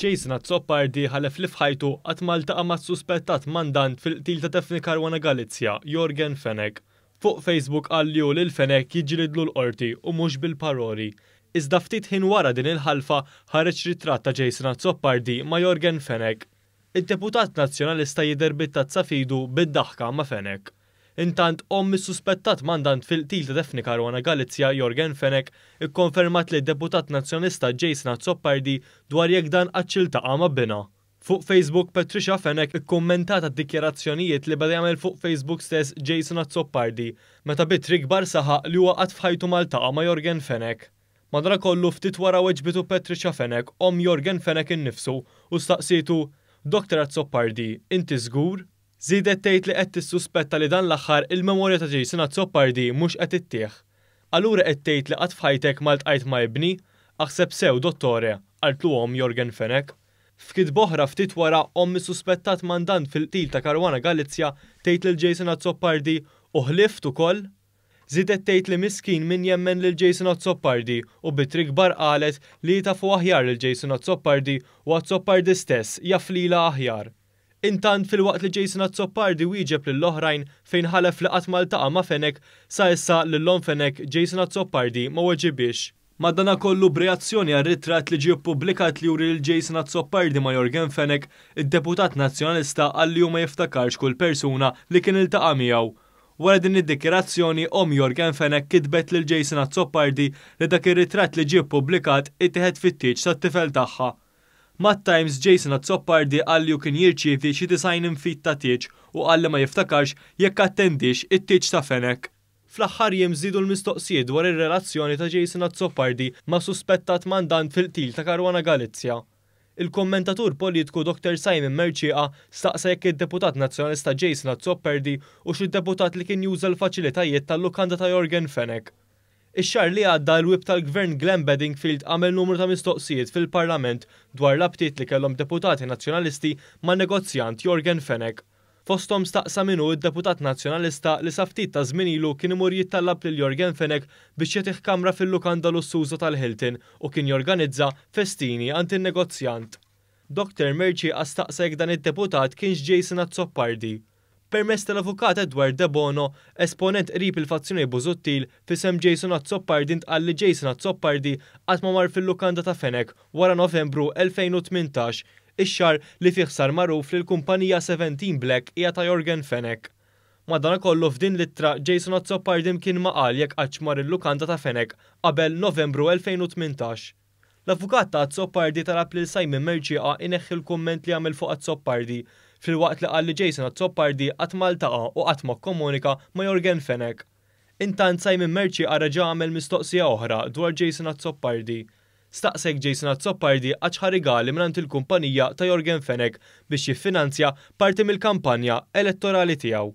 Jason Azzopardi ħalef li f'ħajtu qatt ma ltaqa' mas-suspettat mandant fil-qtil ta' Daphne Caruana Galizia, Yorgen Fenech. Fuq Facebook qal li hu lil Fenech jiġġilidlu l-Qorti u mhux bil-paroli. Iżda ftit ħin wara din il-ħalfa ħareġ ritratt ta' Jason Azzopardi ma' Yorgen Fenech. Id-deputat Nazzjonalista jidher bit-tazza f'idu bid-daħka ma' Fenech. Intant, omm is-suspettat mandant fil-qtil ta' Daphne Caruana Galizia, Yorgen Fenech, ikkonfermat lid-deputat Nazzjonalista Jason Azzopardi dwar jekk dan qattx iltaqa' ma' binha. Fuq Facebook, Patricia Fenech ikkummentat għad-dikjarazzjonijiet li beda jagħmel fuq Facebook stess Jason Azzopardi, meta b'ittri kbar saħaq li huwa qatt f'ħajtu ma ltaqa' ma' Yorgen Fenech. Madankollu ftit wara weġbitu Patricia Fenech, omm Yorgen Fenech innifsu, u staqsietu, Doctor Azzopardi, inti żgur? Żiedet tgħid li qed tissuspetta li dan l-aħħar il-memorja ta' Jason Azzopardi mhux qed ittih. Allura qed tgħid li qatt f'ħajtek ma ltqajt ma' ibni? Aħseb sew, dottore, qaltlu omm Yorgen Fenech. F'kitba oħra ftit wara, omm is-suspettat mandant fil-qtil ta' Caruana Galizia tgħid lil Jason Azzopardi, U ħlift ukoll? Żiedet tgħid li miskin min jemmen lil Jason Azzopardi u b'ittri kbar qalet li hi tafu aħjar lil Jason Azzopardi u Azzopardi stess jaf lilha aħjar. Intant, filwaqt li Jason Azzopardi wieġeb lill-oħrajn fejn ħalef li qatt ma ltaqa' ma' Fenech, sa issa lil omm Fenech, Jason Azzopardi ma weġibhiex. Madanakollu b'reazzjoni għar-ritratt li ġie ppubblikat li juri lil Jason Azzopardi ma' Yorgen Fenech, id-deputat Nazzjonalista qal li hu ma jiftakarx kull persuna li kien iltaqa' miegħu. Wara din id-dikjarazzjoni, omm Yorgen Fenech kitbet lil Jason Azzopardi li dak ir-ritratt li ġie ppubblikat ittieħed fit-tieġ tat-tifel tagħha. Mat-Times, Jason Azzopardi qal li hu kien jirċievi xi 90 infid ta' tieġ u qal li ma jiftakarx jekk attendiex it-tieġ ta' Fenech. Fl-aħħar jiem żdiedu l-mistoqsijiet dwar ir-relazzjoni ta' Jason Azzopardi ma' suspettat mandant fil-qtil ta' Caruana Galizia. Il-kummentatur politiku Dr Simon Mercieca staqsa jekk id-deputat Nazzjonalista Jason Azzopardi hux id-deputat li kien juża l-faċilitajiet tal-lukanda ta' Yorgen Fenech. Ix-xahar li għadda, il-Whip tal-Gvern Glenn Bedingfield għamel numru ta' mistoqsijiet fil-Parlament dwar rabtiet li kellhom deputati Nazzjonalisti man-negozjant Yorgen Fenech. Fosthom staqsa min hu d-deputat Nazzjonalista li sa ftit ta' żmien ilu kien imur jittallab lil Yorgen Fenech biex jagħtih kamra fil-lukanda lussuża tal-Hilton u kien jorganizza festini għand in-negozjant. Doctor Mercieca staqsa jekk dan id-deputat kienx Jason Azzopardi. Permezz tal-Avukat Edward Debono, esponent qrib il-fazzjoni Busuttil, f'isem Jason Azzopardi ntqal li Jason Azzopardi qatt ma mar fil-lukanda ta' Fenech wara Novembru 2018, ix-xahar li fih sar magħruf li l-kumpanija Seventeen Black hija ta' Yorgen Fenech. Madanakollu f'din l-ittra Jason Azzopardi mkien ma qal jekk qattx mar il-lukanda ta' Fenech qabel Novembru 2018. L-avukat ta' Azzopardi talab lil Simon Mercieca ineħħi l-kumment li għamel fuq Azzopardi, filwaqt li qal li Jason Azzopardi qatt ma ltaqa' u qatt ma kkomunika ma' Yorgen Fenech. Intant Simon Mercieca reġa' għamel mistoqsija oħra dwar Jason Azzopardi. Staqsa jekk Jason Azzopardi qattx ħa rigali mingħand il-kumpanija ta' Yorgen Fenech biex jiffinanzja parti mill-kampanja elettorali tiegħu.